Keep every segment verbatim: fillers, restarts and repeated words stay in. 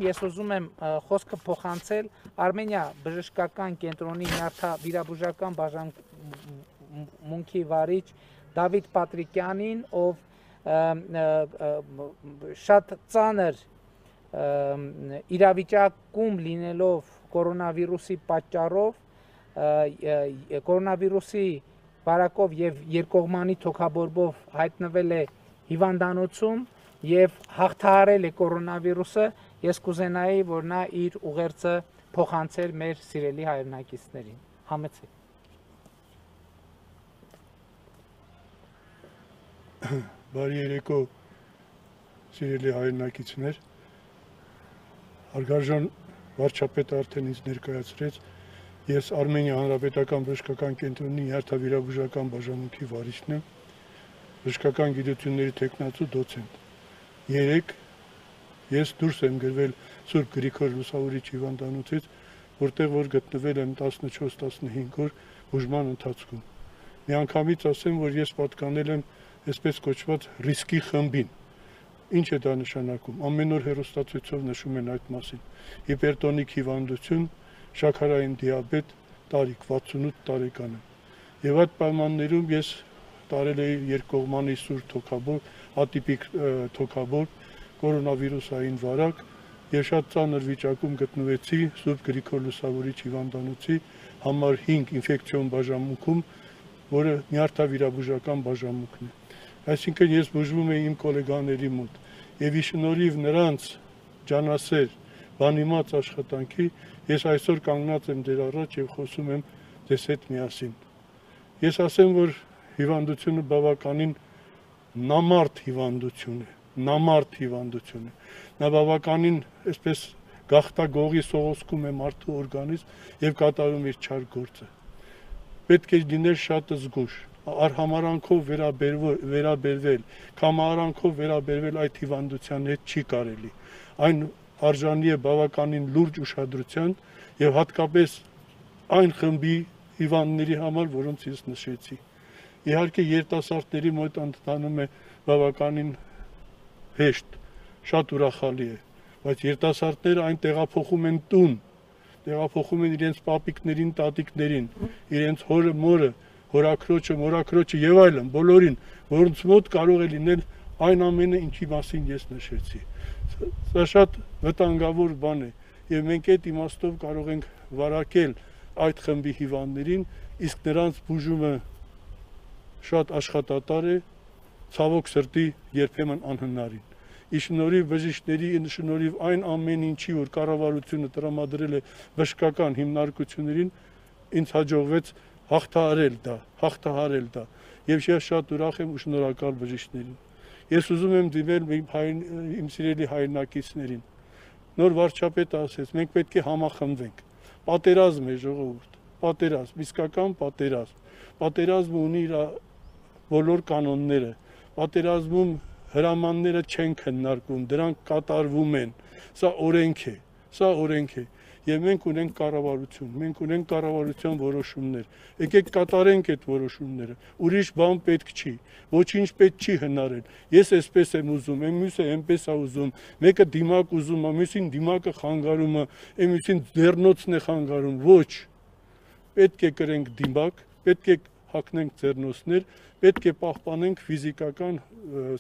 Ես ուզում եմ խոսքը փոխանցել Արմենիա բժշկական կենտրոնի նյարդավիրաբուժական բաժանմունքի վարիչ Դավիթ Պատրիկյանին, ով շատ ծանր իրավիճակում լինելով կորոնավիրուսի պատճառով, կորոնավիրուսի վարակով եւ երկկողմանի թոքաբորբով հայտնվել է հիվանդանոցում եւ հաղթահարել է կորոնավիրուսը, ես կուզենայի, որ նա իր ուղերձը փոխանցեր մեր սիրելի հայրենակիցներին։ Համեցեք։ Բարի երեկո, սիրելի հայրենակիցներ, հարգարժան վարչապետը արդեն ինձ ներկայացրեց, ես Արմենիա Հանրապետական բժշկական կենտրոնի նյարդավիրաբուժական բաժանմունքի վարիչն եմ, բժշկական գիտությունների թեկնածու դոցենտ։ Երեք ես դուրս եմ գրվել Սուրբ Գրիգոր Լուսավորիչ հիվանդանոցից, որտեղ որ գտնվել եմ տասնչորս տասնհինգ օր բուժման ընթացքում։ Միանգամից ասեմ, որ ես պատկանել եմ այսպես կոչված ռիսկի խմբին։ Ինչ է դա նշանակում։ Ամեն օր հեռուստացույցով նշում են այդ մասին։ Հիպերտոնիկ հիվանդություն, շաքարային դիաբետ, տարիք վաթսունութ տարեկան եմ։ Եվ այդ պայմաններում ես տարել էի երկկողմանի սուր թոքաբորբ, ատիպիկ թոքաբորբ, կորոնավիրուսային վարակ եւ շատ ծանր վիճակում գտնվեցի Սուրբ Գրիգոր Լուսավորիչ հիվանդանոցի համար հինգ ինֆեկցիոն բաժանմունքում, որը նյարդավիրաբուժական բաժանմունքն է։ Այսինքն ես բուժվում էի իմ գոլեգաների մոտ եւ ի շնորհիվ նրանց ջանասեր, բանիմաց աշխատանքի ես այսօր կանգնած եմ դեր առաջ եւ խոսում եմ ձեզ հետ միասին։ Ես ասեմ, որ հիվանդությունը բավականին նամարդ հիվանդություն է, նամարդ հիվանդություն է։ Նա բավականին այսպես գախտագողի սողոսկում է մարդու օրգանիզմ եւ կատարում իր չար գործը։ Պետք է լինել շատ զգուշ, արհամարանքով վերաբերվել, կամարանքով վերաբերվել այդ հիվանդության հետ չի կարելի։ Այն արժանի է բավականին լուրջ ուշադրության եւ հատկապես այն խմբի հիվանդների համար, որոնց ես նշեցի։ Իհարկե երիտասարդների մոտ ընթանում է բավականին հեշտ, շատ ուրախալի է, բայց երիտասարդները այն տեղափոխում են տուն, տեղափոխում են իրենց պապիկներին, տատիկներին, իրենց հորը, մորը, հորաքրոջը, մորաքրոջը եւ այլն, բոլորին, որոնց մոտ կարող է լինել այն ամենը, ինչի մասին ես նշեցի։ Սա շատ վտանգավոր բան է եւ մենք այդ իմաստով կարող ենք վարակել այդ խմբի հիվանդներին, իսկ նրանց բուժումը շատ աշխատատար է, ցավոք սրտի երբեմն անհնարին։ Ի շնորհիվ բժիշկների, ի շնորհիվ այն ամեն ինչի, որ կառավարությունը տրամադրել է բժշկական հիմնարկություններին, ինձ հաջողվեց հաղթահարել դա, հաղթահարել դա։ Եվ ես շատ ուրախ եմ ու շնորհակալ բժիշկներին։ Ես ուզում եմ դիմել իմ սիրելի հայրենակիցներին։ Նոր վարչապետը ասեց, մենք պետք է համախմբվենք։ Պատերազմ է ժողովուրդ, պատերազմ, իսկական պատերազմ։ Պատերազմը ունի իր բոլոր կանոնները, պատերազմում հրամանները չեն քննարկվում, դրանք կատարվում են, սա օրենք է, սա օրենք է, եւ մենք ունենք կառավարություն, մենք ունենք կառավարության որոշումներ, եկեք կատարենք այդ որոշումները, ուրիշ բան պետք չի, ոչինչ պետք չի հնարել, ես այսպես եմ ուզում, մյուսը այնպես է ուզում, մեկը դիմակ ուզում է, մյուսին դիմակը խանգարում է, մյուսին ձեռնոցն է խանգարում, ոչ, պետք է կրենք դիմակ, պետք է հագնենք ձեռնոցներ, պետք է պահպանենք ֆիզիկական,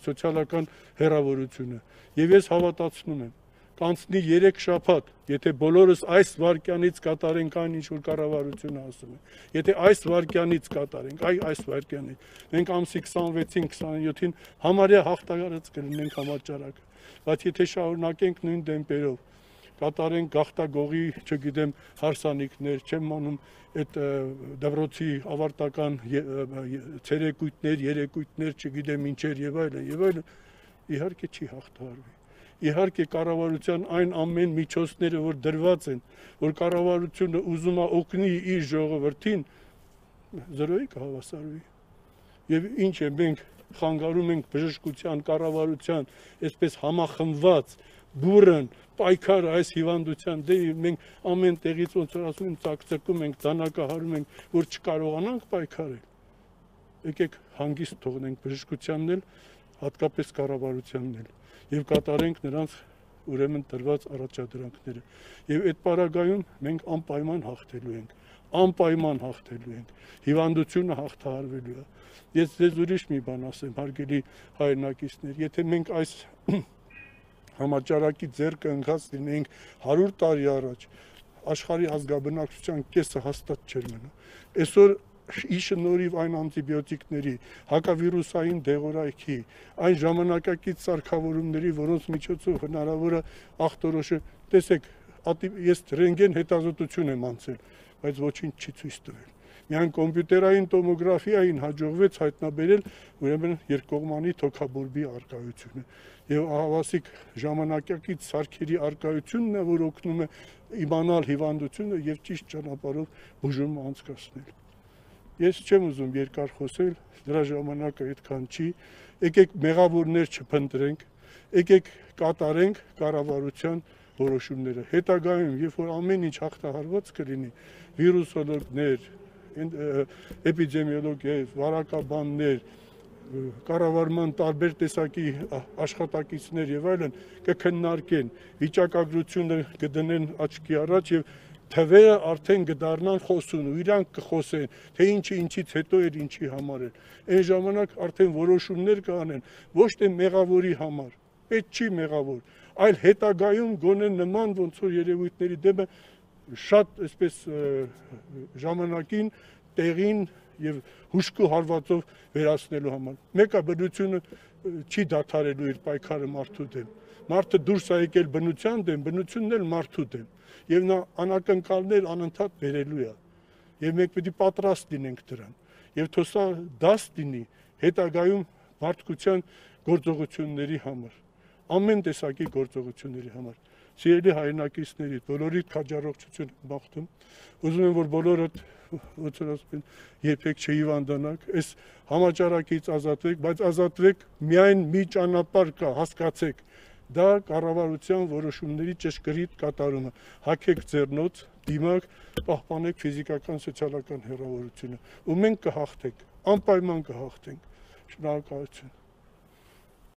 սոցիալական հեռավորությունը։ Եվ ես հավատացնում եմ, կանցնի երեք շաբաթ, եթե բոլորս այս վայրկյանից կատարենք այն, ինչ որ կառավարությունը ասում է, եթե այս վայրկյանից կատարենք, այ այս վայրկյանից, մենք ամսի քսանվեցին, քսանյոթին համարյա հաղթահարած կլինենք համաճարակը, բայց եթե շարունակենք նույն տեմպերով, կատարենք գախտագողի, չգիտեմ, հարսանիքներ, չեմ անում այդ դպրոցի ավարտական ցերեկույթներ, երեկույթներ, չգիտեմ ինչեր եւ այլն, եւ այլն, իհարկե չի հաղթահարվի։ Իհարկե կառավարության այն ամեն միջոցները, որ դրված են, որ կառավարությունը ուզում է օգնի իր ժողովրդին, զրոյի կհավասարվի։ Եվ ինչ է, մենք խանգարում ենք բժշկության, կառավարության, այսպես համախմբված բուրըն պայքարը այս հիվանդության դեպի մենք ամեն տեղից ոնց որ ասում են ցակցկում ենք, դանակահարում ենք, որ չկարողանանք պայքարել։ Եկեք հանգիստ թողնենք բժշկությանն էլ, հատկապես կառավարությանն էլ, եւ կատարենք նրանց ուրեմն տրված առաջադրանքները։ Եվ այդ պարագայում մենք անպայման հաղթելու ենք, անպայման հաղթելու ենք, հիվանդությունը հաղթահարվելու է։ Ես ձեզ ուրիշ մի բան ասեմ, հարգելի հայրենակիցներ, եթե մենք այս համաճարակի ձեռքը ընկած լինեինք հարյուր տարի առաջ, աշխարհի ազգաբնակչության կեսը հաստատ չէր մնա։ Այսօր ի շնորհիվ այն անտիբիոտիկների, հակավիրուսային դեղորայքի, այն ժամանակակից սարքավորումների, որոնց միջոցով հնարավոր է ախտորոշը, տեսեք, ես ռենտգեն հետազոտություն եմ անցել, բայց ոչինչ չի ցույց տվել։ Միայն կոմպյուտերային տոմոգրաֆիային հաջողվեց հայտնաբերել ուրեմն երկկողմանի թոքաբորբի արկայությունը։ Եվ ահավասիկ ժամանակակից սարքերի արկայությունն է, որ օգնում է իմանալ հիվանդությունը եւ ճիշտ ճանապարհով բուժումը անցկացնել։ Ես չեմ ուզում երկար խոսել, դրա ժամանակը այդքան չի, եկեք մեղավորներ չփնտրենք, եկեք կատարենք կառավարության որոշումները։ Հետագայում, երբ որ ամեն ինչ հաղթահարված կլինի, վիրուսոլոգներ, էպիդեմիոլոգ, վարակաբաններ, կառավարման տարբեր տեսակի աշխատակիցներ եւ այլն կքննարկեն, վիճակագրությունը կդնեն աչքի առաջ եւ թվերը արդեն կդառնան խոսուն ու իրանք կխոսեն, թե ինչը ինչից հետո էր, ինչի համար էր։ Այն ժամանակ արդեն որոշումներ կանեն, ոչ թե մեղավորի համար, պետք չի մեղավոր, այլ հետագայում գոնե նման ոնց որ երևույթների դեպը շատ այսպես ժամանակին, տեղին եւ հուշկու հարվածով վերացնելու համար։ Մեկը բնությունը չի դադարելու իր պայքարը մարդու դեմ։ Մարդը դուրս է եկել բնության դեմ, բնությունն էլ մարդու դեմ։ Եվ նա անակնկալներ անընդհատ բերելու է։ Եվ մենք պետք է պատրաստ լինենք դրան։ Եվ թող սա դաս լինի հետագայում մարդկության գործողությունների համար, ամեն տեսակի գործողությունների համար։ Սիրելի հայրենակիցների, բոլորիդ քաջառողջություն բախտում։ Ուզում եմ, որ բոլորդ ոնց որ ասում են, երբեք չհիվանդանաք, այս համաճարակից ազատվեք, բայց ազատվեք միայն մի ճանապարհ կա, հասկացեք, դա կառավարության որոշումների ճշգրիտ կատարումը։ Հագեք ձեռնոց, դիմակ, պահպանեք ֆիզիկական, սոցիալական հեռավորությունը, ու մենք կհաղթենք, անպայման կհաղթենք։ Շնորհակալություն։